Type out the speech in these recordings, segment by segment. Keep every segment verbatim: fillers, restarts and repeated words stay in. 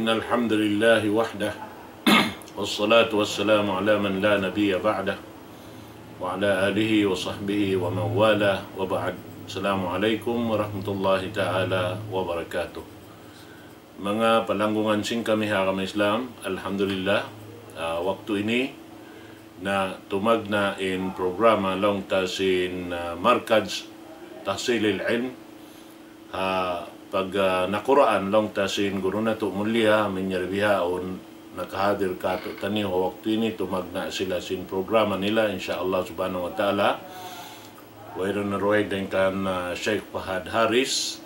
الحمد لله وحده، والصلاة والسلام على من لا نبي بعده، وعلى آله وصحبه ومن والاه، وبعد. السلام عليكم ورحمة الله تعالى وبركاته. Manga palanggungan sin kami ha agama Islam, alhamdulillah, ah, waktu ini na tumagna' in programa laung ta sin, ah, Markaz Tahsilil Ilm, ha pag, ah, nakuraan laung ta sin guru natu' mulia, manjari bihaun nakahadir kātu'niyu ha waktu ini, tumagna' sila sin programa nila, insya Allah subhanahu wa ta'ala. Wayruun na dugaing dayn kan, ah, Sheikh Fahad Haris.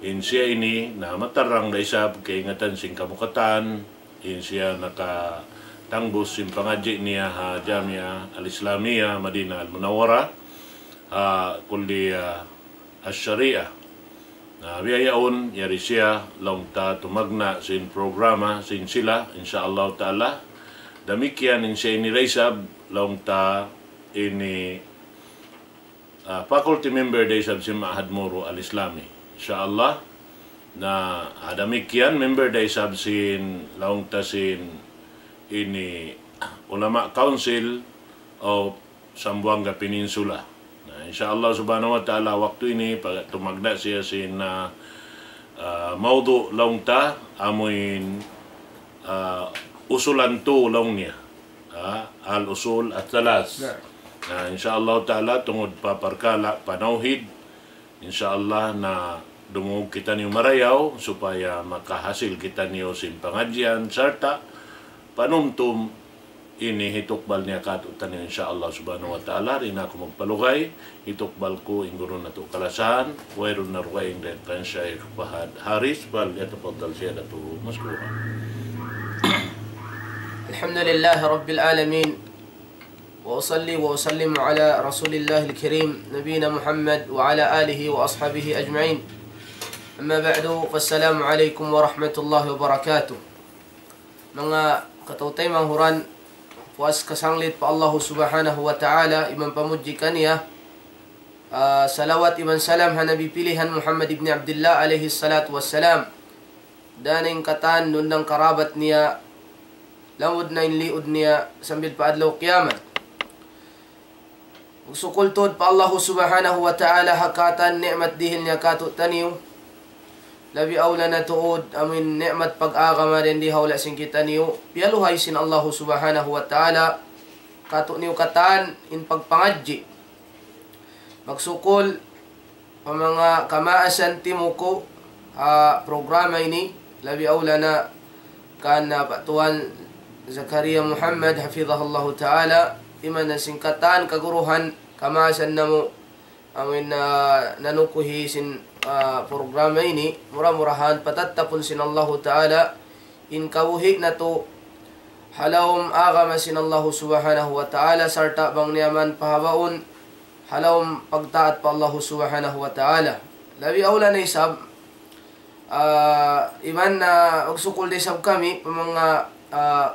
In siya ini na matarrang da isab kaingatan sin kamu katan. In siya nakatangbus sin pangadji' niya ha Jamia Al-Islamia Madinah Al-Munawwarah, ha Kulliyah Al-Shariah. Na biya' yaun, yari siya laung ta tumagna' sin programa sin sila, insya Allah ta'ala. Damikkiyan in siya ini da isab laung ta ini, ah, faculty member da isab sin Ma'had Moro Al-Islami, insya Allah. Na, ah, damikkiyan member da isab sin laung ta sin ini Ulama Council of Zamboanga Peninsula. Na, insya Allah subhanahu wa ta'ala, waktu ini pag-, tumagna' siya sin, ah, ah, mawdu' laung ta, amuin, ah, usulan tu laung niya. Ah, al-usul al-thalath. Na, insya Allah ta'ala, tungud pa parkala' panawhid, insya Allah na dumungug kitaniyu marayaw supaya makahasil kitaniyu sin pangadjian sarta' panumtum ini hitukbal niya kātu'niyu, insya Allah subhanahu wa ta'ala. Di' na aku magpalugay, hitukbal ku in guru natu' kalasahan, wayruun na dugaing dayn kan Sheikh Fahad Haris, فليتفضل سيادته مشكورا. الحمد لله رب العالمين، وأصلي وأسلم على رسول الله الكريم نبينا محمد وعلى آله وأصحابه أجمعين. أما بعد، فالسلام عليكم ورحمة الله وبركاته. Manga kataw-taymanghuran, puas kasanglit pa Allahu subhanahu wa ta'ala, iban pamudji kaniya, ah, salawat iban salam ha Nabi pilihan Muhammad ibn Abdillah alayhi salatu wassalam. Dayn ha katan, duun na in karabat niya, lamud na in liud niya, sambil pa adlaw kiyamat. Magsukul tuud pa Allahu subhanahu wa ta'ala ha katan ni'mat dihil niya kātu'niyu. Labi awla na tuud amuin ni'mat pag-agama dayn di ha hula' sin kitaniyu. Piyaluhay sin Allahu subhanahu wa ta'ala kātu'niyu katan in pagpangadji'. Magsukul pa manga kamaasan timuku' ha programa ini, labi awla na kan, ah, Pak Tuan Zakaria Muhammad, hafidhahullahu ta'ala, iban na sin katan kaguruhan kamaasan namu', amuin, ah, nanukuhi sin, ah, programa ini, mura-murahan patattapun sin Allahu ta'ala in kabuhi' natu' ha lawm agama sin Allahu subhanahu wa ta'ala, sarta' bang niya man pahabaun ha lawm pagtaat pa Allahu subhanahu wa ta'ala. Labi awla na isab, ah, iban na magsukul da isab kami pa manga, ah,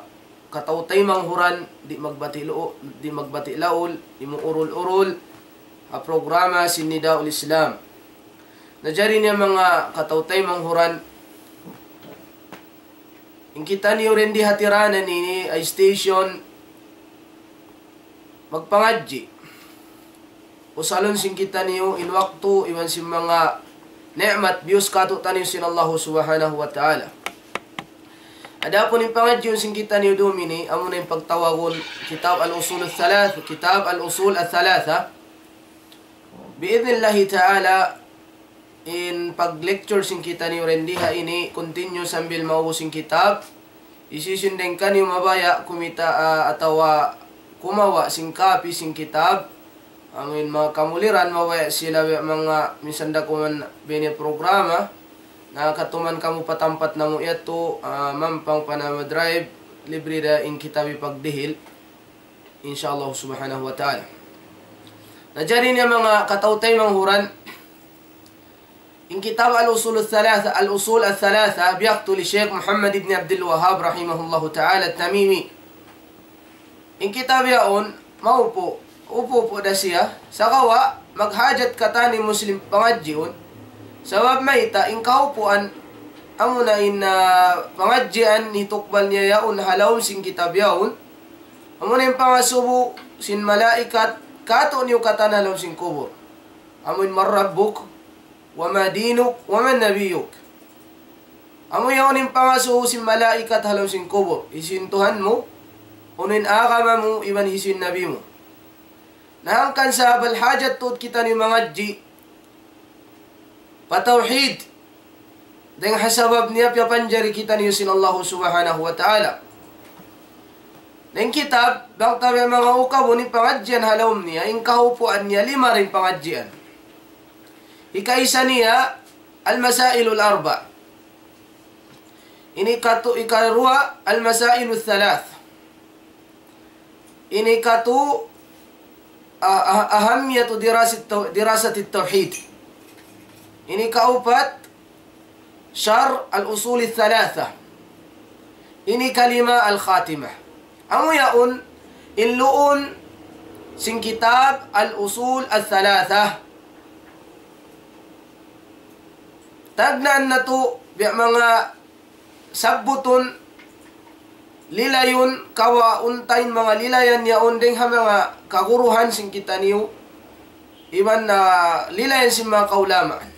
kataw-taymanghuran, di' magbati' lu-, di' magbati' laul, di' muurul-urul ha programa sin Nidaul Islam. Na jari niya manga kataw-taymanghuran, in kitaniyu dayn di ha tiranan ini, ay station magpangadji'. Usalun sin kitaniyu in waktu iban sin manga ni'mat biyus kātu'niyu sin Allahu subhanahu wa ta'ala. Adapun in pangadjiun sin kitaniyu dum ini, amuna in pagtawagun Kitab Al-Usul Al-Thalath, Kitab Al-Usul Al-Thalatha. Bi'idhnillahi ta'ala, in pag-lecture sin kitaniyu dayn di ha ini, continue sambil maubus in kitab. Hisiyu-siyu dayn kaniyu mabaya' kumita', ah, atawa kumawa' sin kapi sin kitab. Amuin manga kamuliran mabaya' sila biya' manga minsan da kuman bini programa. Na katuman kamu pa tampat namu' yadtu, ah, mampang pa nama drive, libre da in kitab hipagdihil. Insya Allah subhanahu wa ta'ala. Na jari niya manga kataw-taymanghuran, in kitab Al-Usul Al-Thalatha, Al-Usul Al-Thalatha, biyaktu li Sheikh Muhammad ibn Abdul Wahhab rahimahullahu ta'ala At-Tamimi. In kitab yaun, maupu', upu'-upu' da siya, sagawa', maghajat katan in Muslim pangadjiun, sabab mayta', in kaupuan, amuna in, ah, pangadjian hitukbal niya yaun ha lawm sin kitab yaun. Amuna in pangasubu sin malaikat, kātu'niyu katan ha lawm sin kubul. Amuin من ربك وما دينك ومن نبيك. Amu yaun in pangasubu sin malaikat ha lawm sin kubul. Hisiyu in Tuhan mu, unu in agama mu, iban hisiyu in nabi mu. Na hangkan sabab hajat tuud kitaniyu mangadji' pa tawhid. Dayn ha sabab niya piyapanjari kitaniyu sin Allahu Subhanahu wa Ta'ala. Na in kitab, bang ta biya' manga ukabun in pangadjian ha lawm niya, in kahupuan niya lima da in pangadjian. Hikaisa niya, المسائل الأربع. Ini katu-, ikaruwa, المسائل الثلاث. Ini katu, ah, ah, أهمية دراسة التو-، دراسة التوحيد. Ini kaupat, شرح الأصول الثلاثة. Ini kalima, الخاتمة. Amu yaun, in luun sin kitab الأصول الثلاثة. Tagnaan natu', biya' manga sabbutun, lilayun, kawa unta in manga lilayan yaun dayn ha manga kaguruhan sin kitaniyu, iban na lilayan sin manga kaulamaan.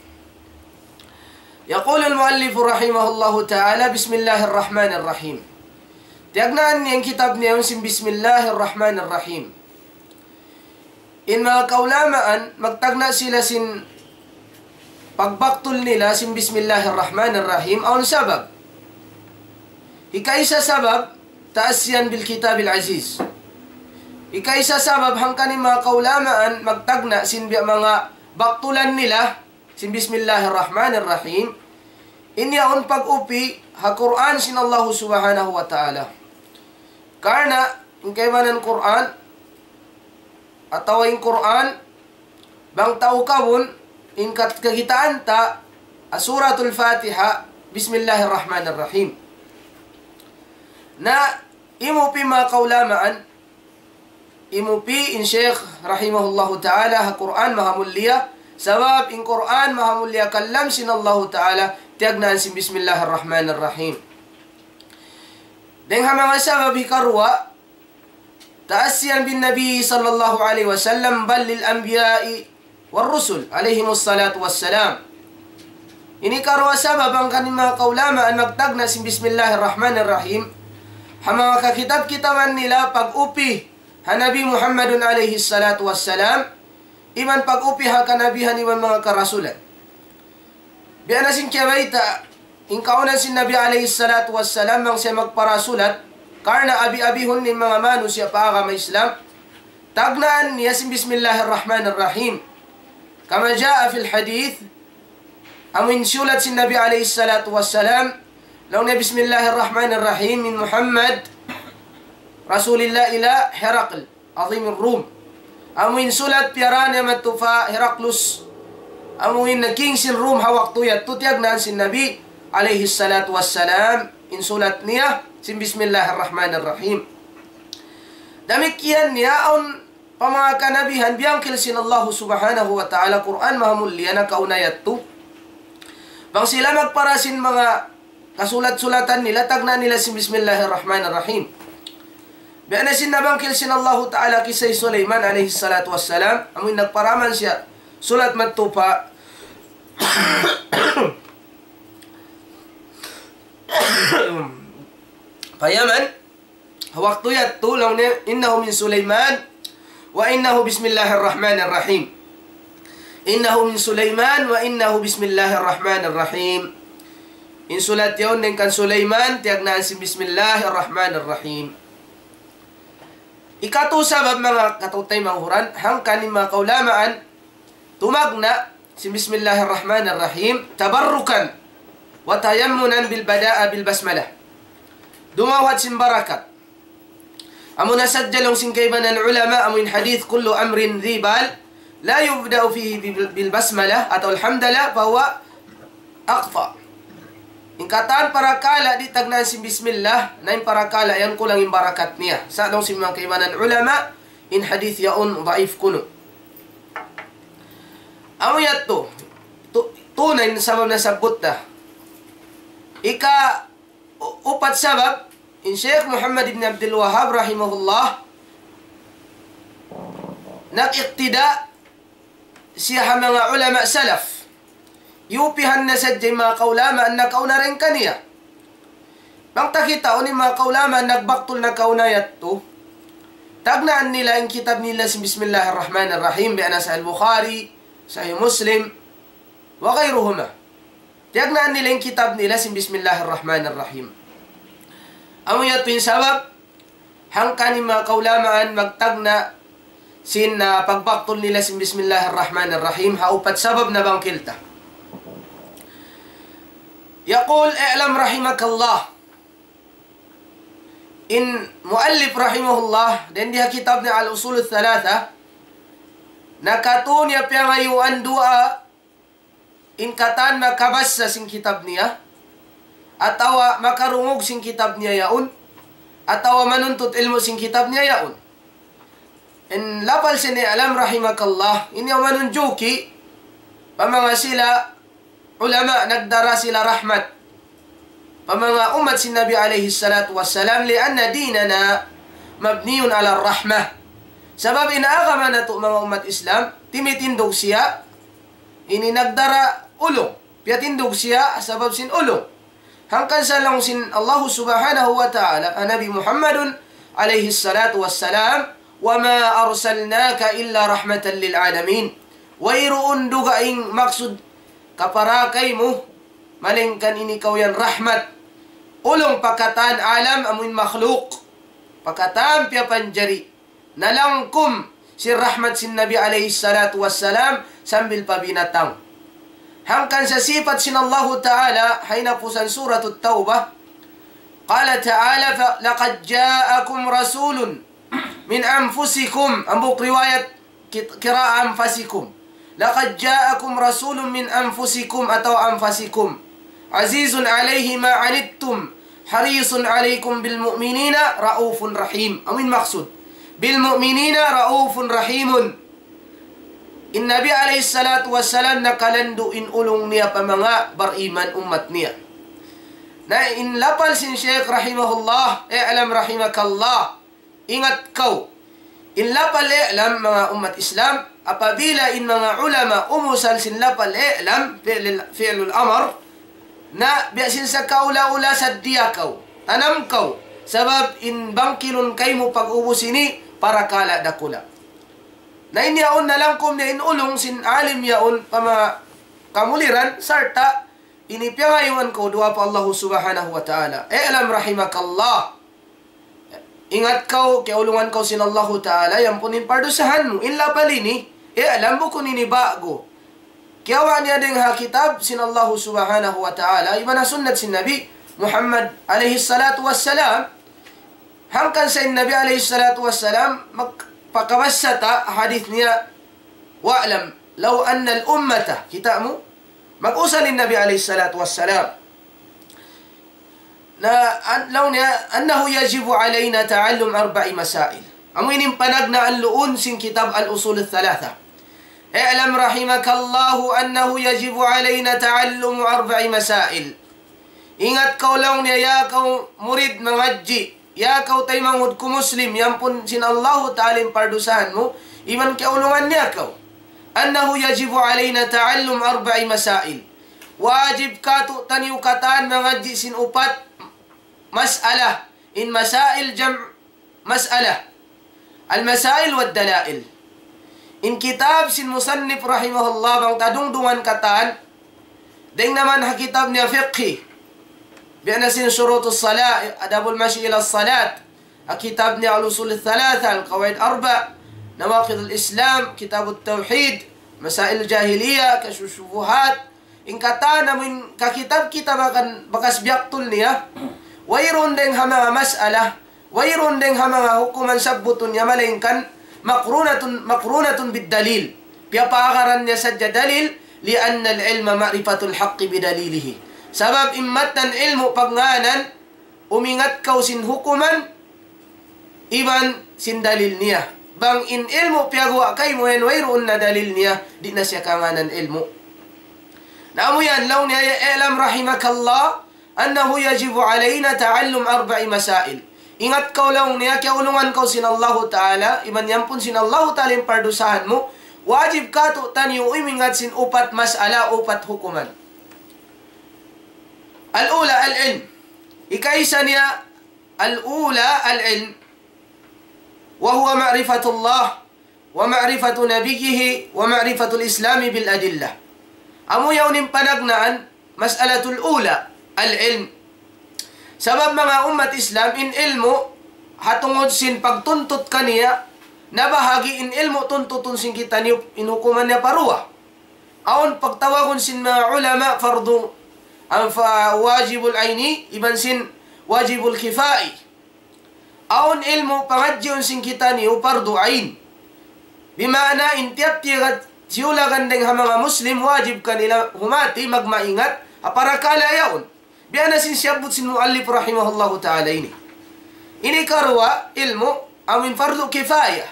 يقول المؤلف رحمه الله تعالى: بسم الله الرحمن الرحيم. Tiyagnaan niya in kitab niya yaun sin بسم الله الرحمن الرحيم. In manga kaulamaan, magtagna' sila sin pagbaktul nila sin بسم الله الرحمن الرحيم, awn sabab. Hikaisa sabab, تأسيا بالكتاب العزيز. Hikaisa sabab, hangkan in manga kaulamaan, magtagna' sin biya' manga baktulan nila, sin بسم الله الرحمن الرحيم, in yaun pag-upi ha Qur'an sin Allahu Subhanahu wa Ta'ala. Karna' in kaibanan Qur'an, atawa in Qur'an, bang ta ukabun, in kat-, kakitaan ta, ha Suratul Fatiha, بسم الله الرحمن الرحيم. Na imupi manga kaulamaan, imupi in Shaykh rahimahullahu ta'ala ha Qur'an maha mulia, sabab in Qur'an maha mulia kalam sin Allahu ta'ala, tiyagnaan sin بسم الله الرحمن الرحيم. Dayn ha manga sabab hikaruwa, تأسيا بالنبي صلى الله عليه وسلم، بل للأنبياء والرسل عليهم الصلاة والسلام. Ini karuwa sabab hangkan in manga kaulamaan magtagna' sin بسم الله الرحمن الرحيم. Ha manga kakitab-kitaban nila pag-upi ha Nabi Muhammadun alayhi salatu wassalam, iban pag-upi ha kanabihan iban manga karasulan. Biya' na sin kiyabayta', in kaunan sin Nabi alayhi salatu wassalam, bang siya magparasulat, karna' abi-abihun in manga manusiya' pa agama Islam, tagnaan niya sin بسم الله الرحمن الرحيم. كما جاء في الحديث, amu in siyulat sin Nabi alayhi salatu wassalam, laung niya بسم الله الرحمن الرحيم من محمد رسول الله إلى هرقل عظيم الروم. Amu in sulat piyarā niya madtu pa Heraclius, amu in king sin Rum ha waktu yadtu, tiyagnaan sin Nabi alayhi salatu wassalam, in sulat niya sin بسم الله الرحمن الرحيم. Damikkiyan niya awn pa manga kanabihan biyangkil sin Allahu Subhanahu wa Ta'ala, Qur'an maha mulia nakauna yadtu. Bang sila magpara sin manga kasulat-sulatan nila, tagnaan nila sin بسم الله الرحمن الرحيم. Biya' na sin nabangkil sin Allahu Ta'ala kissa hi Sulaiman alayhi salatu wassalam, amu in nagparaman siya sulat madtu pa, pa Yaman. Waktu yadtu laung niya, إنه من سليمان وإنه بسم الله الرحمن الرحيم. إنه من سليمان وإنه بسم الله الرحمن الرحيم. In sulat yaun dayn kan Sulaiman, tiyagnaan sin بسم الله الرحمن الرحيم. Ikatu sabab manga kataymanghuran, hangkan in manga kaulamaan, tumagna' sin بسم الله الرحمن الرحيم تبركا وتيمنا بالبداءة بالبسملة. Dumawhat sin barakat. Amuna sadja laung sin kaibanan ulama, amu in hadith كل أمر ذي بال لا يبدأ فيه بال-، بالبسملة atawa الحمد لله فهو أخطأ. In katan parakala' di' tagnaan sin bismillah, na in parakala' yan kulang in barakat niya. Sa' laung sin manga kaibanan ulama, in hadith yaun daif kunu'. Amu yadtu, tu-, tunay in sabab nasabbut ta. Ika u-, upat sabab, in Sheikh Muhammad ibn Abdul Wahhab rahimahullah, nag-iqtida siya ha manga ulama salaf. Yupihan na sadja in manga kaulamaan nakauna dayn kaniya. Bang ta kitaun in manga kaulamaan nagbaktul nakauna yadtu, tagnaan nila in kitab nila sin Bismillahir Rahmanir Rahim, biya' na Sahih Bukhari, Sahih Muslim, wa ghayruhuma. Tiyagnaan nila in kitab nila sin Bismillahir Rahmanir Rahim. Amu yadtu in sabab, hangkan in manga kaulamaan magtagna' sin, ah, pagbaktul nila sin Bismillahir Rahmanir Rahim, ha upat sabab nabangkil ta. يقول: اعلم رحمك الله. In muallif rahimahullah, dayn di ha kitab niya Al-Usul Thalatha, nakatun niya piyangayuan duwaa, in katan makabassa sin kitab niya, atawa makarungug sin kitab niya yaun, atawa manuntut ilmu' sin kitab niya yaun. In lapal sin i'lam rahimakallah, ini manunjuki, pa manga sila ulama nagdara sila rahmat pa manga ummat sin Nabi alayhi salatu wassalam, لأن ديننا مبني على الرحمة. Sabab in agama natu' manga ummat Islam, timitindug siya, ini nagdara ulung. Piyatindug siya sabab sin ulung. Hangkan sa laung sin Allah subhanahu wa ta'ala, ha Nabi Muhammadun alayhi salatu wassalam, وما أرسلناك إلا رحمة للعالمين. Wayruun dugaing maksud kapara kaymu, malayngkan ini kaw yan rahmat. Ulung pa katan alam amuin makhluk. Pa katan piyapanjari. Nalangkum sin rahmat sin Nabi alayhi salatu wassalam sambil pa binatang. Hangkan sa sipat sin Allahu Ta'ala, ha hinapusan Suratut Tawbah, قال تعالى: ف-، لقد جاءكم رسول من أنفسكم. Hambuuk riwayat kit-, qira'a أنفسكم. لقد جاءكم رسول من أنفسكم atawa أنفسكم. عزيز عليه ما عنتم حريص عليكم بالمؤمنين رءوف رحيم. Amuin maksud. بالمؤمنين رءوف رحيم. In Nabi alayhi salatu wassalam nakalandu' in ulung niya pa manga bariman ummat niya. Na in lapal sin Sheikh rahimahullah, اعلم رحمك الله, ingat kaw. In lapal اعلم, manga ummat Islam, apabila in manga ulama umusal sin lapal اعلم, fi'lil, fi'lul amr, na biya' sin sa kaula-ula saddiya kaw, tanam kaw, sabab in bangkilun kaymu pag-ubus ini, parakala' dakula'. Na in yaun nalangkum niya in ulung sin alim yaun pa manga kamuliran, sarta' ini piyangayuan kaw duwaa pa Allahu subhanahu wa ta'ala. اعلم رحمك الله. Ingat kaw, kiyaulungan kaw sin Allahu ta'ala, yan pun in pardusahan mu. In lapal ini, اعلم bukun ini ba'gu. Kiyawa' niya dayn ha kitab sin Allahu subhanahu wa ta'ala, iban ha sunnat sin Nabi Muhammad alayhi salatu wassalam. Hangkan sa in Nabi alayhi salatu wassalam, magpakabassa ta hadith niya, واعلم لو أن الأمة, kita' mu, mag-usal in Nabi alayhi salatu wassalam. Na, an-, laung niya, أنه يجب علينا تعلم أربع مسائل. Amu ini in panagnaan duun sin kitab Al-Usul Thalatha. اعلم رحمك الله أنه يجب علينا تعلم أربع مسائل. Ingat kaw laung niya, ya kaw murid mangadji', ya kaw taymanghud ku Muslim, yan pun sin Allahu ta'ala in pardusahan mu, iban kiyaulungan niya kaw. أنه يجب علينا تعلم أربع مسائل. Wajib katu'taniyu katan mangadji' sin upat mas'ala. In masail jam' mas'ala. المسائل والدلائل. In kitab sin musannif rahimahullah bang ta dungdungan katan, dayn naman ha kitab niya fiqhi. Biya' na sin شروط الصلاة, آداب المشي إلى الصلاة. Ha kitab niya الأصول الثلاثة, القواعد الأربع, نواقض الإسلام, كتاب التوحيد, مسائل الجاهلية, كشف الشبهات. In katan amuin kakitab-kitab akan bakas biyaktul niya, wayruun dayn ha manga mas'ala, wayruun dayn ha manga hukuman sabbutun niya malayngkan مقرونة، مقرونة بالدليل. Piyapaagaran niya sadja dalil, لأن العلم معرفة الحق بدليله. Sabab in mattan ilmu' pagngānan, umingat kaw sin hukuman, iban sin dalil niya. Bang in ilmu' piyaguwa' kaymu yan wayruun na dalil niya, di' na siya kangānan ilmu'. Na amu yan, laung niya, اعلم رحمك الله أنه يجب علينا تعلم أربع مسائل. Ingat kaw laung niya, kiyaulungan kaw sin Allahu Ta'ala, iban yaun sin Allahu Ta'ala in pardusahan mu, wajib kātu'niyu umingat sin upat mas'ala, upat hukuman. الأولى العلم. Hikaisa niya, الأولى العلم، وهو معرفة الله ومعرفة نبيه ومعرفة الإسلام بالأدلة. Amu yaun in panagnaan, مسألة الأولى العلم. Sabab manga ummat Islam, in ilmu' ha tungud sin pagtuntut kaniya, nabahagi' in ilmu' tuntutun sin kitaniyu, in hukuman niya pa duwa. Awn pagtawagun sin manga ulama fardu, am fa wajibul aini, iban sin wajibul kifai. Awn ilmu' pangadjiun sin kitaniyu fardu ain. Bima'na in tiyap-tiyap siyulagan dayng ha manga Muslim wajib kanila humati magmaingat ha parakala' yaun. Biya' na sin siyabbut sin muallif rahimahullahu ta'ala ini. Ini karuwa ilmu' amuin fardu kifaya.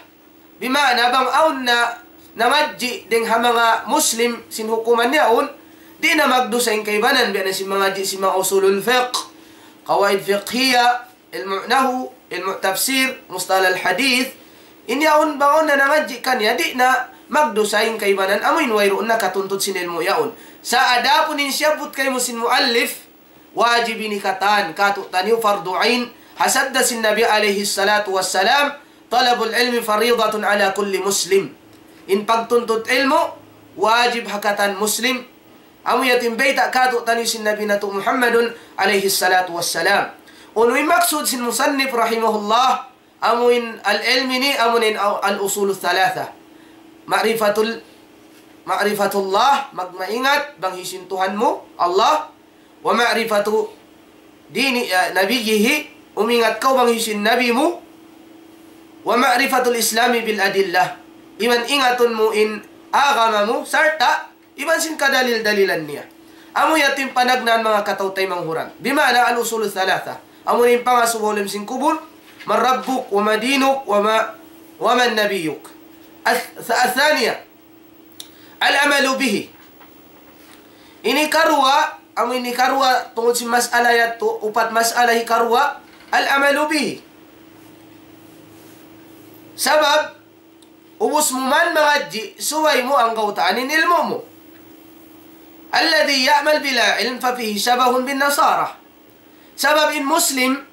Bima'na bang awn na nangadji' dayng ha manga Muslim sin hukuman yaun, di' na magdusa in kaibanan, biya' na sin mangadji' sin manga usulul fiqh, qawaid fiqhiyya, ilmu' nahwu, ilmu' tafsir, mustalah al-hadith. In yaun bang awn na nangadji' kaniya, di' na magdusa in kaibanan, amuin wayruun na katuntut sin ilmu' yaun. Sa' adapun in siyabbut kaymu sin muallif, wajib ini katan kātu'niyu fardu ain, ha sabda sin Nabi alayhi salatu wassalam, طلب العلم فريضة على كل مسلم. In pagtuntut ilmu', wajib ha katan Muslim. Amu yadtu in bayta' kātu'niyu sin Nabi natu' Muhammadun alayhi salatu wassalam. Unu in maksud sin musannif rahimahullah, amuin al-ilm ini, amuin al-usul thalatha. Ma'rifatul, ma'rifatullah, magmaingat bang hisiyu in Tuhan mu, Allah, wa ma'rifatu dini, eh, nabiyyihi, umingat kaw bang hisiyu in nabi mu, wa ma'rifatul islami bil adillah, iban ingatun mu in agama mu, sarta' iban sin kadalil-dalilan niya. Amu yadtu in panagnaan manga kataw-taymanghuran. Bima'na al-usul thalatha. Amu in pangasubu ha lawm sin kubul, من ربك وما دينك وما، ومن نبيك. الث-، الثانية، العمل به. Ini karuwa, amu ini karuwa, tungud sin mas'ala yadtu, upat mas'ala hikaruwa, العمل به. Sabab, ubus mu man mangadji', subay mu anggawtaan in ilmu' mu. الذي يعمل بلا علم ففيه شبه بالنصارى. Sabab in Muslim,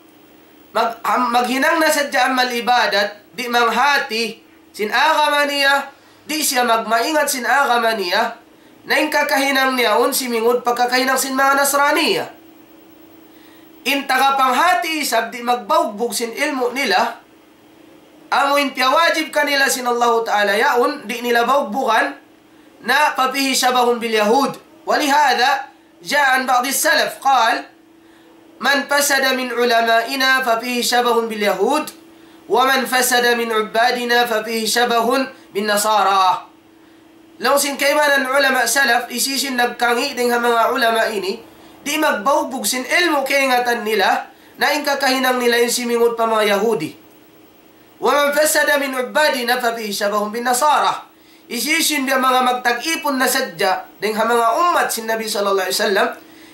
mag-, am-, maghinang na sadja amal ibadat, di' manghati sin agama niya, di' siya magmaingat sin agama niya, na in kakahinang niya yaun simingud pa kakahinang sin manga Nasraniya. In tagapanghati isab di' magbagbug sin ilmu' nila, amu in piyawajib kanila sin Allahu Ta'ala yaun, di' nila bagbug, na ففيه شبه باليهود. ولهذا جاء عن بعض السلف قال: من فسد من علمائنا ففيه شبه باليهود، ومن فسد من عبادنا ففيه شبه بالنصارى. Laung sin kaibanan ulama salaf, hisiyu-siyu in nagkangi' dayng ha manga ulama ini, di' magbagbug sin ilmu' kaingatan nila, na in kakahinang nila in simingud pa manga Yahudi. ومن فسد من عبادنا ففيه شبه بالنصارى. Hisiyu-siyu in biya' manga magtag-ipun na sadja dayng ha manga ummat sin Nabi sallallahu alayhi wasallam,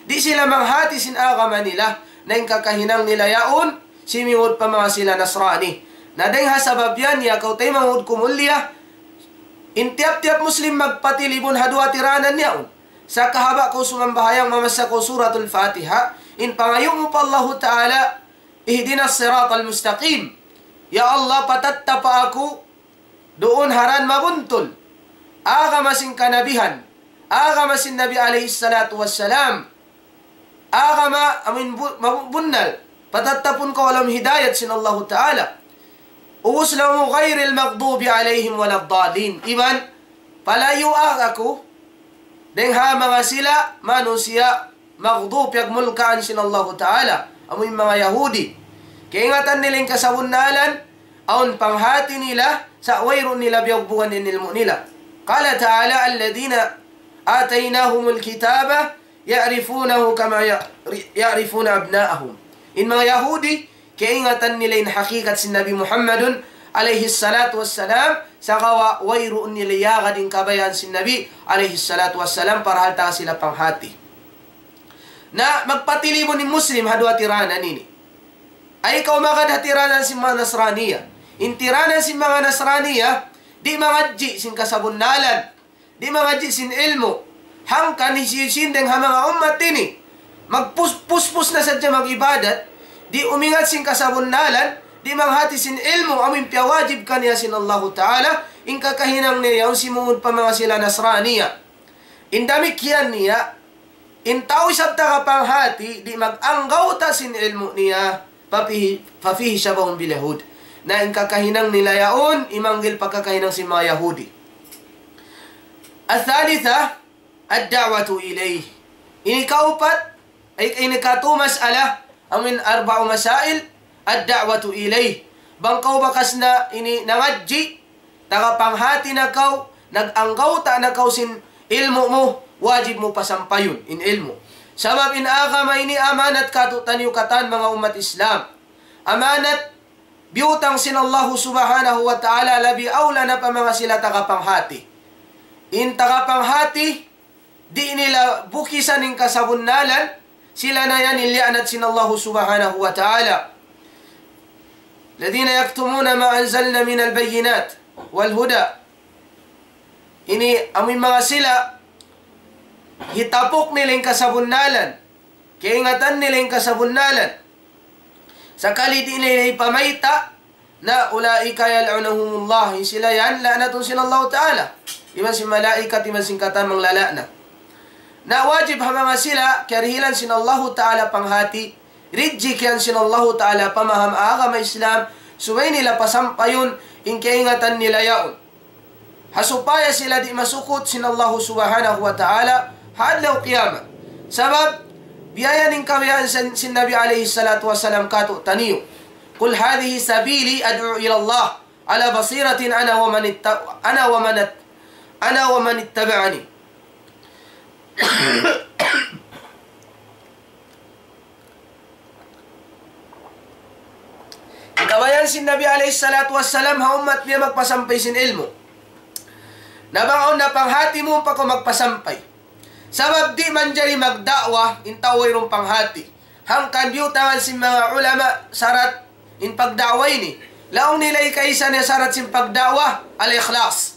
di' sila manghati sin agama nila, na in kakahinang nila yaun simingud pa manga sila Nasrani. Na dayng ha sabab yan, ya kaw taymanghud ku mulliya, in tiyap-tiyap Muslim magpatilibun ha duwa tiranan yaun. Sa' kahaba' kaw sumambahayang, mamassa kaw Suratul Fatiha, in pangayu' mu pa Allahu Ta'ala, اهدنا الصراط المستقيم. Ya Allah, patattapa aku duun ha dan mabuntul. Agama sin kanabihan. Agama sin Nabi alayhi salatu wassalam. Agama amuin bu-, mabu-, bunnal. Patattapun kaw ha lawm hidayat sin Allahu Ta'ala. Ubus laung mu غير المغضوب عليهم ولا الضالين. Iban, palayua aku dayng ha manga sila manusiya' maghdub, piyagmulkaan sin Allahu Ta'ala, amu in manga Yahudi. Kaingatan nila in kasabunnalan, awn panghati nila, sa' wayruun nila biyugbugan in ilmu' nila. قال تعالى: الذين آتيناهم الكتاب يعرفونه كما يعرفون أبناءهم. In manga Yahudi, kaingatan nila in hakikat sin Nabi Muhammadun alayhi salatu wassalam, sagawa' wayruun nila iyagad in kabayaan sin Nabi alayhi salatu wassalam, parahal taga sila panghati. Na magpatilibun in Muslim ha duwa tiranan ini. Ay kaw magad ha tiranan sin manga Nasraniya. In tiranan sin manga Nasraniya, di' mangadji' sin kasabunnalan. Di' mangadji' sin ilmu'. Hangkan hisiyu-siyu dayn ha manga ummat ini, magpus-, puspus na sadja mag-ibadat, di' umingat sin kasabunnalan, di' manghati sin ilmu', amu in piyawajib kaniya sin Allahu Ta'ala, in kakahinang niya yaun simūd pa manga sila Nasraniya. In damikkiyan niya, in tau isab taga panghati, di' mag-anggawta' sin ilmu' niya, ففيه، ففيه شبه باليهود. Na in kakahinang nila yaun, imanggil pa kakahinang sin manga Yahudi. الثالثة، الدعوة إليه. Ini kaupat, ay, ini katu mas'ala, amu in أربع مسائل، الدعوة إليه. Bang kaw bakas na ini nangadji', taga panghati na kaw, nag-anggawta' na kaw sin ilmu' mu, wajib mu pasampayun in ilmu'. Sabab in agama ini amanat katu'taniyu katan manga ummat Islam. Amanat biyutang sin Allahu Subhanahu wa Ta'ala, labi awla na pa manga sila taga panghati. In taga panghati, di' nila bukisan in kasabunnalan, sila na yan in liyaanat sin Allahu Subhanahu wa Ta'ala. الذين يكتمون ما أنزلنا من البينات والهدى. Ini amu in manga sila, hitapuk nila in kasabunnalan, kaingatan nila in kasabunnalan. Sakali di' nila hipamayta', na أولئك يلعنهم الله, in sila yan, la'natun sin Allahu Ta'ala. Iban sin malaikat, iban sin katan manglala'nat. Na wajib ha manga sila, kiyarihilan sin Allahu Ta'ala panghati, rijjikihan sin Allahu Ta'ala pamaham agama Islam, subay nila pasampayun in kaingatan nila yaun. Ha supaya sila di' masukut sin Allahu Subhanahu wa Ta'ala ha adlaw qiyamah. Sabab, biya' yan in kabayaan sin, sin Nabi alayhi salatu wassalam katu'taniyu. قل هذه سبيلي أدعو إلى الله على بصيرة أنا ومن ات-، أنا ومن ات-، أنا ومن اتبعني. Kabayaan sin Nabi alayhi salatu wassalam ha ummat niya magpasampay sin ilmu'. Na bang awn na panghati mu pa kaw magpasampay. Sabab di' manjari magda'wa in tau wayruun panghati. Hangkan biyutangan sin manga ulama sarat in pagda'wa ini. Laung nila ikaisa niya sarat sin pagda'wa, al-ikhlas.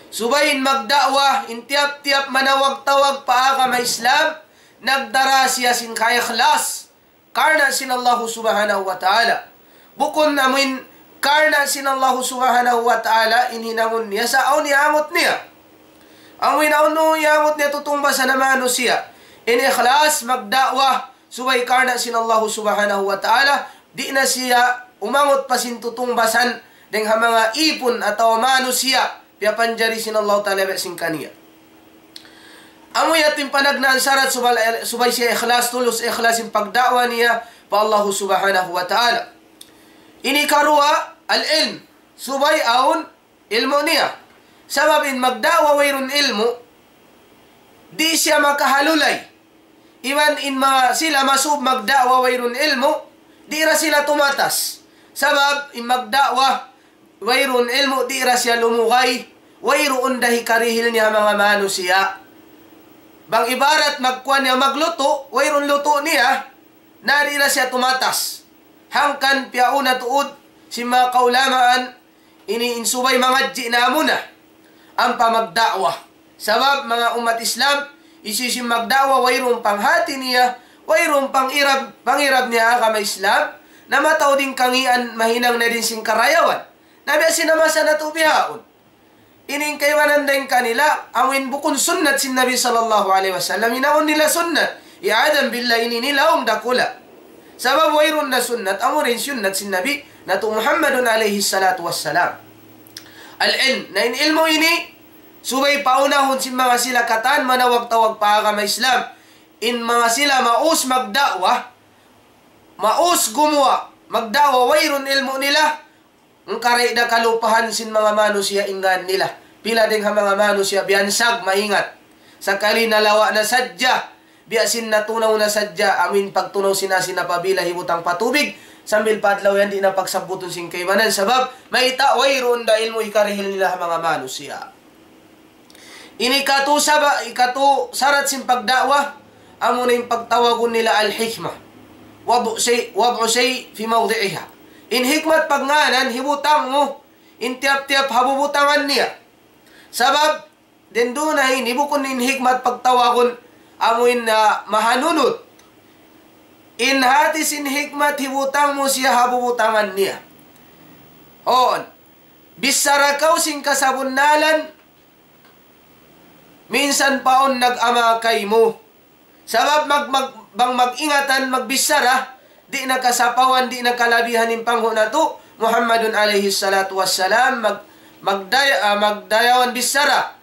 Subay in magda'wa, in tiyap-tiyap manawag-tawag pa agama Islam, nagdara siya sin kaikhlas karna' sin Allahu Subhanahu wa Ta'ala. Bukun amuin karna' sin Allahu Subhanahu wa Ta'ala in hinangun niya sa' awn iyangut niya. Amuin awn iyangut niya tutungbasan ha manusiya'. In ikhlas magda'wa subay karna' sin Allahu Subhanahu wa Ta'ala, di' na siya umangut pa sin tutungbasan dayn ha manga ipun atawa manusiya', piyapanjari sin Allahu Ta'ala biya' sin kaniya. Amu yadtu in panagnaan sarat subay, subay siya ikhlas, tulus ikhlas in pagda'wa niya pa Allahu Subhanahu wa Ta'ala. Ini karuwa, al-ilm. Subay awn ilmu' niya. Sabab in magda'wa wayruun ilmu', di' siya makahalulay. Iban in manga sila masub magda'wa wayruun ilmu', di' ra sila tumatas. Sabab in magda'wa wayruun ilmu', di' ra siya lumugay, wayruun da hikarihil niya manga manusiya'. Bang ibarat magkuwan niya maglutu', wayruun lutu' niya, na di' ra siya tumatas. Hangkan piyauna tuud sin manga kaulamaan, ini in subay mangadji' na amuna ampa magda'wa. Sabab manga ummat Islam, hisiyu-siyu in magda'wa, wayruun panghati niya, wayruun pangirab, pangirab niya agama Islam, na mataud in kangīan, mahinang na dayn sin karayawan. Na biya' sin masa natu' bihaun. Ini in kaibanan dayn kanila, amuin bukun sunnat sin Nabi sallallahu alayhi wasallam, hinaun nila sunnat. Iyadhan billah, ini nilaung dakula'. Sabab wayruun na sunnat, amuin sunnat sin Nabi natu' Muhammadun alayhi salatu wassalam. Al-ilm, na in ilmu' ini, subay paunahun sin manga sila katan manawag-tawag pa agama Islam. In manga sila maus magda'wa, maus gumuwa' magda'wa, wayruun ilmu' nila, hangkan di' da kalupahan sin manga manusiya' in ngan nila. Pila dayn ha manga manusiya' biyansag maingat. Sakali nalawa' na sadja, biya' sin natunaw na sadja, amuin pagtunaw sin asin apabila hibutang pa tubig, sambil pa adlaw yan di' na pagsabbutun sin kaibanan. Sabab, mayta', wayruun da ilmu' hikarihil nila ha manga manusiya'. Ini katu saba-, ikatu sarat sin pagda'wa, Amuna in pagtawagun nila al-hikmah. وضع شيء، وضع شيء في موضعها. In hikmat pagngānan, hibutang mu in tiyap-tiyap ha bubutangan niya. Sabab, dayn duun na ini, bukun in hikmat pagtawagun, amu in, ah, mahanunut. In hāti sin hikmat, hibutang mu siya ha bubutangan niya. Huun. Bichara kaw sin kasabunnalan, minsan pa awn nag-ama kaymu. Sabab mag-, mag-, bang mag-ingatan, magbichara, di' na kasapawan, di' na kalabihan in panghu' natu', Muhammadun alayhi salatu wassalam, mag-, magday-, ah, magdayawan bichara,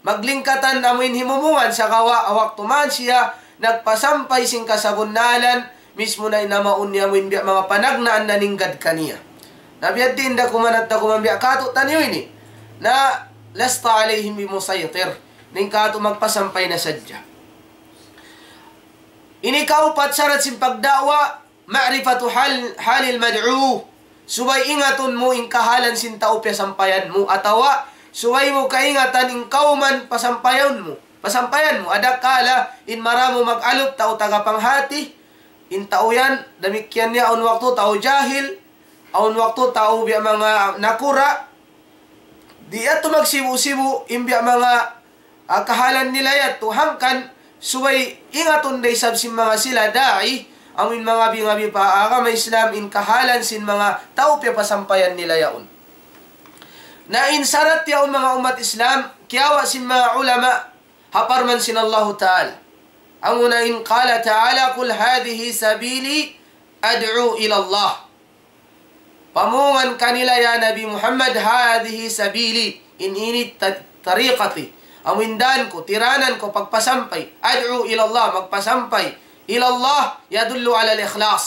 maglingkatan amu in himumungan, sagawa' waktu man siya nagpasampay sin kasabunnalan, mismu na in namaun niya amu in biya' manga panagnaan naninggad kaniya. Na biya' diin da kuman at da kuman biya' katu' taniyu ini. Na لست عليهم بمسيطر. Na in katu' magpasampay na sadja. Ini kaupat sarat sin pagda'wa, معرفة حال، حال المدعو. Subay ingatun mu in kahalan sin tau piyasampayan mu, atawa subay mu kaingatan in kawman pasampayan mu. Pasampayan mu, adakala in maramu mag-alup tau taga panghati, in tau yan, damikkiyan niya awn waktu tau jahil, awn waktu tau biya' manga nakura', di' yadtu magsibu'-sibu' in biya' manga, ah, kahalan nila yadtu, hangkan subay ingatun da isab sin manga sila da'i, amu in mangabi-ngabi pa agama Islam in kahalan sin manga tau piyapasampayan nila yaun. Na in sarat yaun manga ummat Islam, kiyawa' sin manga ulama, ha parman sin Allahu Ta'ala. Amuna in قال تعالى: قل هذه سبيلي أدعو إلى الله. Pamungan kanila, ya Nabi Muhammad, هذه سبيلي, in ini ta-, tariqati, amu in dan ku, tiranan ku, pagpasampay, أدعو إلى الله, magpasampay, إلى الله يدل على الإخلاص.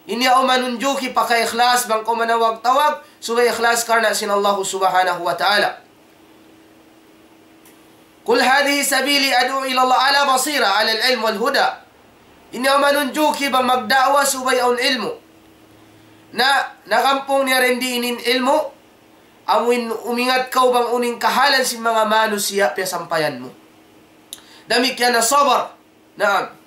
Ini awn manunjuki pagka-ikhlas, bang kaw manawag-tawag, subay ikhlas karna' sin Allah Subhanahu wa Ta'ala. قل هذه سبيلي أدعو إلى الله على بصيرة، على العلم والهدى. Ini awn manunjuki bang magda'wa subay awn ilmu'. Na, nagampung niya dayn di in ilmu', amu in umingat kaw bang unu in kahalan sin manga manusiya' piyasampayan mu. Damikkiyan na sabar. Naam.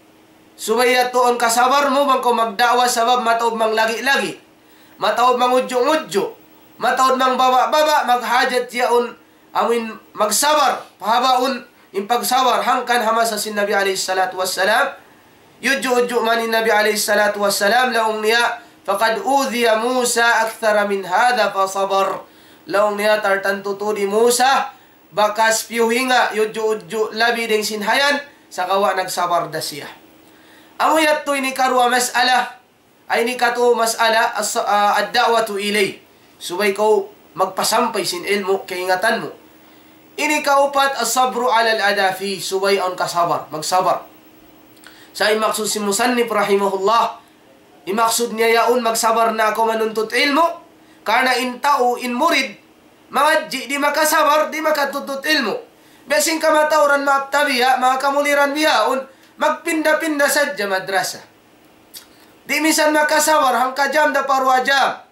Subay yadtu awn kasabar mu bang kaw magda'wa sabab mataud manglagi-lagi. Mataud mangudju'-ngudju'. Mataud mangbaba'-baba', maghajat yaun amu in magsabar. Pahabaun in pagsabar hangkan ha masa sin Nabi alayhi salatu wassalam. Yudju'-udju' man in Nabi alayhi salatu wassalam, laung niya, فقد أوذي موسى أكثر من هذا فصبر. Laung niya, tartantu tuud hi Musa, bakas piyuhinga, yudju'-udju' labi dayn sin hayan, sagawa' nagsabar da siya. Amu yadtu ini karuwa mas'ala, ay ini katu mas'ala, as-, ah, الدعوة إليه. Subay kaw magpasampay sin ilmu', kaingatan mu. Ini kaupat, الصبر على الأذى فيه, subay awn kasabar, magsabar. Sa' in maksud sin musannif rahimahullah, in maksud niya yaun magsabar na kaw manuntut ilmu', karna' in tau, in murid, mangadji' di' makasabar, di' makatuntut ilmu'. Biya' sin kamatauran maap ta biya', manga kamuliran bihaun, magpinda-pinda sadja madrasa. Di' minsan makasabar, hangka jam da pa duwa jam.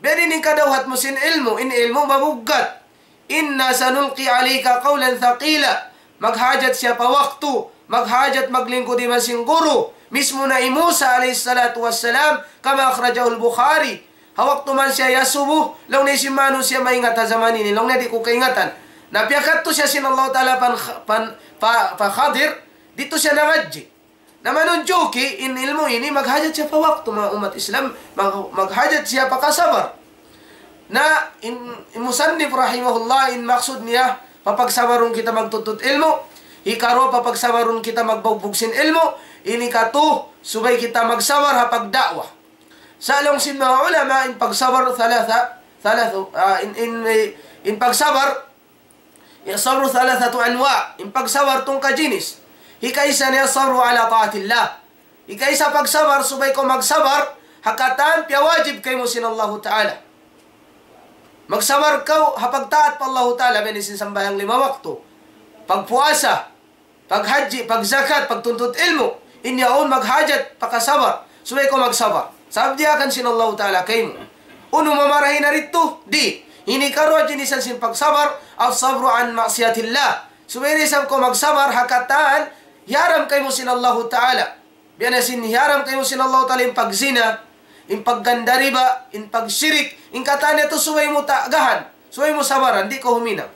Biya' diin in kadawhat mu sin ilmu', in ilmu' mabuggat. إنا سنلقي عليك قولا ثقيلا. Maghajat siya pa waktu, maghajat maglingkud iban sin guru. Mismu na hi Musa alayhi salatu wassalam, كما أخرجه البخاري. Ha waktu man siya iyasubu, laung niya, sin manusiya' maingat ha jaman ini, laung niya, di' ku kaingatan. Na piyakadtu siya sin Allah Ta'ala pan, pan, pa, pa Khadir, didtu siya nangadji'. Na manunjuki in ilmu' ini maghajat siya pa waktu, manga ummat Islam, mag-, maghajat siya pa kasabar. Na in, in musannif rahimahullah, in maksud niya, papagsabarun kita magtuntut ilmu', hikaruwa papagsabarun kita magbugbug sin ilmu', ini katu, subay kita magsabar ha pagda'wa. Sa' laung sin manga ulama, in pagsabar thalatha, thalatha, ah, in, in, in pagsabar, الصبر ثلاثة أنواع. In pagsabar tungka jinis. Hikaisa niya الصبر على طاعة الله. Hikaisa pagsabar, subay kaw magsabar ha katan piyawajib kaymu sin Allahu Ta'ala. Magsabar kaw ha pagtaat pa Allahu Ta'ala, biya' sin sambahayang lima waktu, pagpuasa, paghajji, pagzakat, pagtuntut ilmu'. In yaun maghajat pa kasabar. Subay kaw magsabar. Sabab diyaak sin Allahu Ta'ala kaymu. Unu mamarahi na didtu? Di'. Ini karuwa jinisan sin pagsabar, الصبر عن معصية الله. Subay da isab kaw magsabar ha katan hiyaram kaymu sin Allahu Ta'ala. Biya' na sin hiyaram kaymu sin Allahu Ta'ala in pagzina, in pagganda riba, in pagshirik, in katan yadtu subay mu tagahan, subay mu sabaran, di' kaw huminang.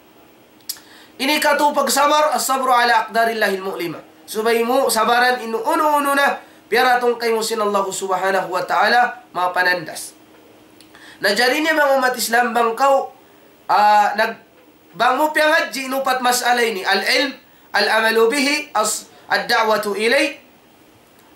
Ini katu' pagsabar, الصبر على أقدار الله المؤلمة. Subay mu sabaran in unu-unu na piyaratung kaymu sin Allahu Subhanahu wa Ta'ala, mapanandas. Na jari ini manga ummat Islam, bang kaw, ah, nag-, bang mu piyangadji' in upat mas'ala ini, العلم، العمل به، الص-، الدعوة إليه،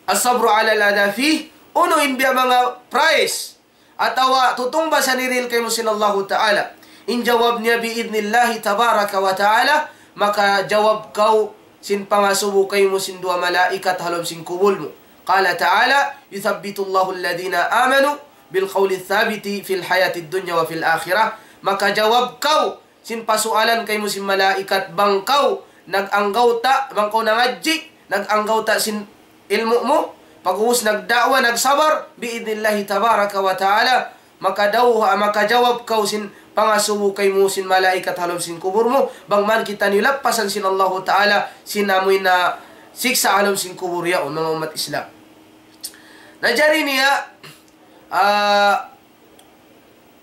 الصبر على الأذى فيه, unu in biya' manga prize, atawa tutungbasan hirihil kaymu sin Allahu Ta'ala. In jawab niya بإذن الله تبارك وتعالى, makajawab kaw sin pangasubu kaymu sin duwa malaikat ha lawm sin kubul mu. قال تعالى: يثبت الله الذين آمنوا بالقول الثابت في الحياة الدنيا وفي الآخرة. Makajawab kaw sin pasualan kaymu sin malaikat, bang kaw nag-anggawta', bang kaw nangadji', nag-anggawta' sin ilmu' mu, pag'ubus nagda'wa, nagsabar, بإذن الله تبارك وتعالى, makadaw-, makajawab kaw sin pangasubu kaymu sin malaikat ha lawm sin kubul mu, bang man kitaniyu lappasan sin Allahu Ta'ala sin amuin siksa' ha lawm sin kubul yaun, manga ummat Islam. Na jari niya, ah,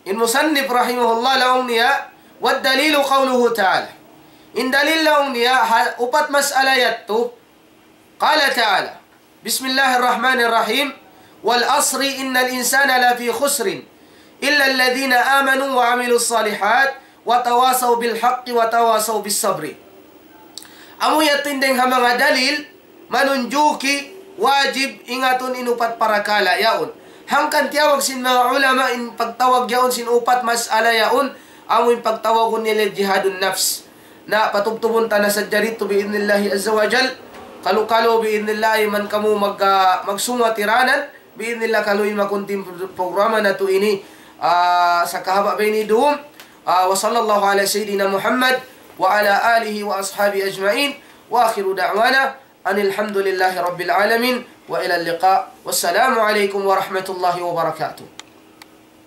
in musannif rahimahullah laung niya, والدليل قوله تعالى. In dalil laung niya, ha, upat mas'ala yadtu, قال تعالى: بسم الله الرحمن الرحيم، والعصر إن الإنسان لفي خسر، إلا الذين آمنوا وعملوا الصالحات وتواصوا بالحق وتواصوا بالصبر. Amu yadtu in dayng ha manga dalil, manunjuki, wajib, ingatun in upat parakala' yaun. Hangkan tiyawag sin manga ulama in pagtawag yaun sin upat mas'ala yaun, amu in pagtawagun nila jihadun nafs. Na patubtubun ta na sadja didtu بإذن الله عز وجل. Kalu-kalu بإذن الله man kamu mag-, ah, magsungwa tiranan, بإذن الله kalu in makunting programa natu' ini, ah, sa kahaba' ba ini dum. Ah, وصلى الله على سيدنا محمد وعلى آله وأصحابه أجمعين. وآخر دعوانا أن الحمد لله رب العالمين. وإلى اللقاء. والسلام عليكم ورحمة الله وبركاته.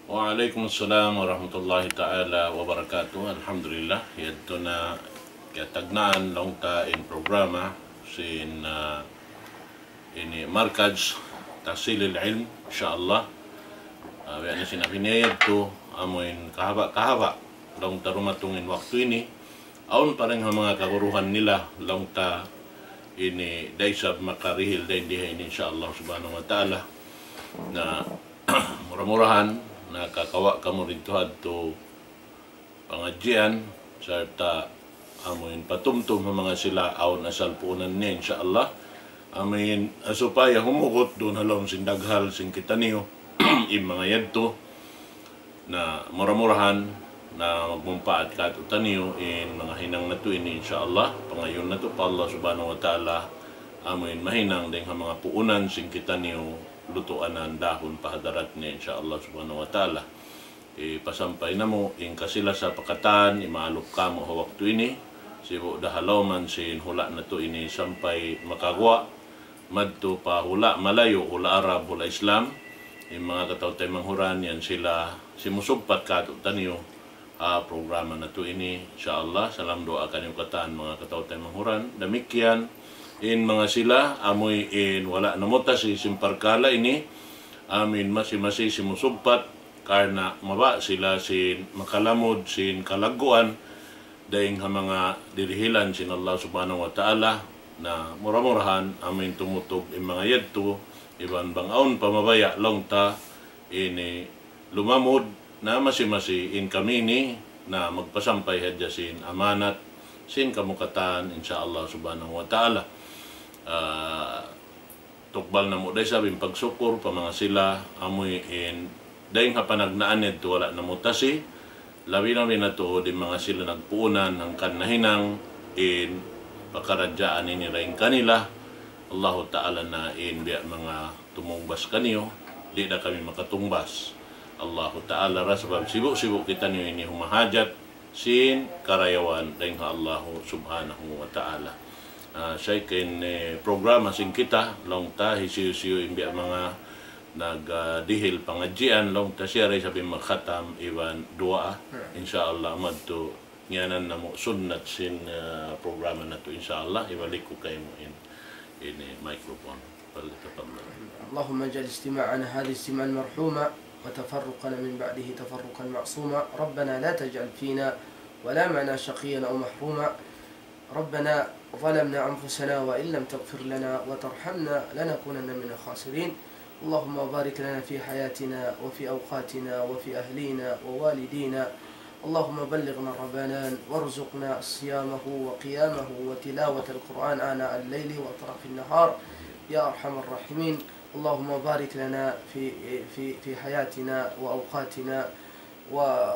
Wa alaykum assalam warahmatullahi ta'ala wabarakatuh. Alhamdulillah, yadtu na kiyatagnaan laung ta in programa sin, ah, ini Markaz Tahsilil Ilm, insya Allah. Ah, biya' na sin abi niya yadtu, amu in kahaba'-kahaba' laung ta dumatung in waktu ini. Awn pa dayn ha manga kaguruhan nila, laung ta ini da isab makarihil dayn di ha ini, insya Allah subhanahu wa ta'ala. Na mura-murahan, nakakawa' kamu didtu hadtu pangadjian, sarta' amu in patumtum ha manga sila awn asal puunan niya, insya Allah. Amu in, ah, supaya humugut duun ha lawm sin daghal sin kitaniyu, in manga yadtu. Na mura-murahan na magmumpaat kātu'niyu in manga hinang natu' ini, insya Allah. Pangayuun natu' pa Allah subhanahu wa ta'ala, amu in mahinang dayng ha manga puunan sin kitaniyu, lutuanan dahun pa hadarat niya, insya Allah subhanahu wa ta'ala. Ipasampay namu' in kasi-lasa pa katan, imaalup kamu ha waktu ini. Sibu' da ha lawman sin hula' natu' ini sampay makaguwa' madtu pa hula' malayu', hula' Arab, hula' Islam. In manga kataw-taymanghuran yan sila simusugpat kātu'niyu ha programa natu' ini, insya Allah. Salam duwaa kaniyu katan manga kataw-taymanghuran. Damikkiyan in manga sila, amuin wala' namutasi sin parkala' ini, amuin masi-masi simusugpat, karna' mabaya' sila sin makalamud sin kalagguan dayng ha manga dirihilan sin Allah subhanahu wa ta'ala. Na mura-murahan amuin tumutug in manga yadtu, iban bang awn pa mabaya' laung ta ini lumamud, na masi-masi in kami ini na magpasampay hadja sin amanat sin kamu katan, insya Allah subhanahu wa ta'ala. Ah, tukbal namu' da isab in pagsukur pa manga sila, amuin dayng ha panagnaan yadtu wala' namutasi, labi-labi na tuud in manga sila nagpuunan hangkan nahinang in pakaradjaan ini dayn kanila. Allahu Ta'ala na in biya' manga tumungbas kaniyu, di' da kami makatungbas. Allahu Ta'ala ra, sabab sibu'-sibu' kitaniyu ini humahajat sin karayawan dayng ha Allahu subhanahu wa ta'ala. Ah, sa' in, eh, programa sin kita, laung ta, hisiyu-siyu in biya' manga nag, ah, dihil pangadjian, laung ta, siya ra isab in magkhatam iban duwaa. Hmm. Insya Allah, madtu ngiyanan namu' sunnat sin, ah, programa natu', insya Allah, hibalik ku kaymu in Ini microphone. فليتفضل. اللهم اجعل اجتماعنا هذا اجتماعا مرحوما، وتفرقنا من بعده تفرقا معصوما. ربنا لا تجعل فينا ولا معنا شقيا أو محروما. ربنا ظلمنا أنفسنا وإن لم تغفر لنا وترحمنا لنكونن من الخاسرين. اللهم بارك لنا في حياتنا وفي أوقاتنا وفي أهلينا ووالدينا. اللهم بلغنا رمضان وارزقنا صيامه وقيامه وتلاوة القرآن آناء الليل وأطراف النهار يا أرحم الراحمين. اللهم بارك لنا في، في، في حياتنا وأوقاتنا و-،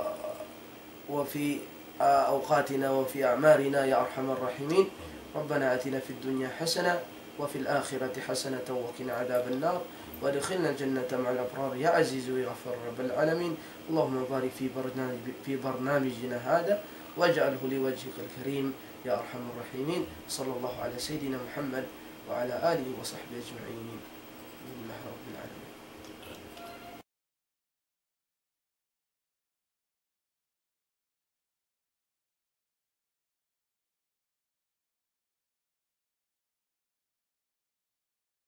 وفي أوقاتنا وفي أعمارنا يا أرحم الراحمين. ربنا آتنا في الدنيا حسنة وفي الآخرة حسنة وقنا عذاب النار وأدخلنا الجنة مع الأبرار يا عزيز يا غفار رب العالمين. اللهم بارك في برنامج-، في برنامجنا هذا واجعله لوجهك الكريم يا أرحم الراحمين. صلى الله على سيدنا محمد وعلى آله وصحبه أجمعين. الحمد لله رب العالمين.